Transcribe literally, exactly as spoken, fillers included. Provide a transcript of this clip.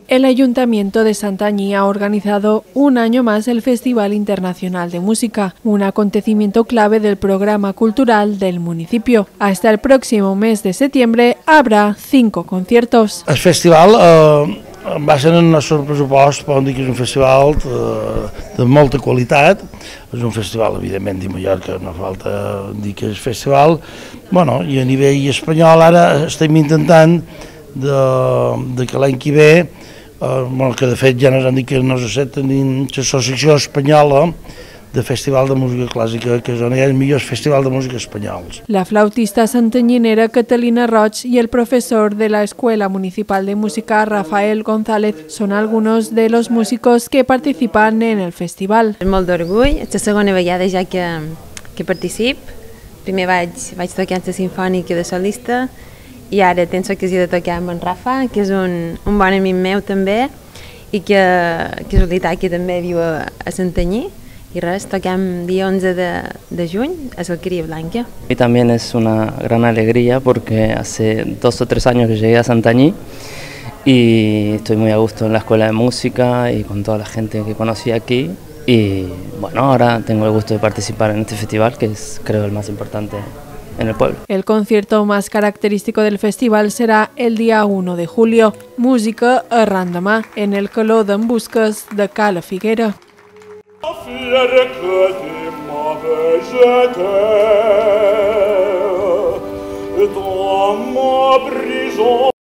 El Ayuntamiento de Santanyí ha organizado un año más el Festival Internacional de Música, un acontecimiento clave del programa cultural del municipio. Hasta el próximo mes de septiembre habrá cinco conciertos. El festival eh, va ser en el nostre pressupost, podem dir que és un festival de, de molta qualitat. És un festival, evidentment, de Mallorca, no falta dir que és festival. Bueno, i a nivell espanyol ara estem intentant de, de que l'any que ve, eh, bueno, que de fet ja ens han dit que no s'accepten dins l'Associació Espanyola de Festival de Música Clàssica, que és on hi ha els millors festivals de música espanyols. La flautista santanyinera Catalina Roig y el profesor de la Escuela Municipal de Música Rafael González son algunos de los músicos que participan en el festival. És molt d'orgull, és la segona vegada ja que, que particip. Primer vaig, vaig tocar la sinfònica de solista i ara tens l'ocasió de tocar amb en Rafa, que és un, un bon amic meu també i que, que és veritat que també viu a, a Santanyí. Y res, toquem día once de, de juny a Alquería Blanca. Y también es una gran alegría porque hace dos o tres años que llegué a Santanyí y estoy muy a gusto en la escuela de música y con toda la gente que conocí aquí. Y bueno, ahora tengo el gusto de participar en este festival, que es, creo, el más importante en el pueblo. El concierto más característico del festival será el día uno de julio, Música a Randamà, en el Caló d'en Busques de Cala Figuera. Fier que tu m'avais jeté dans ma prison.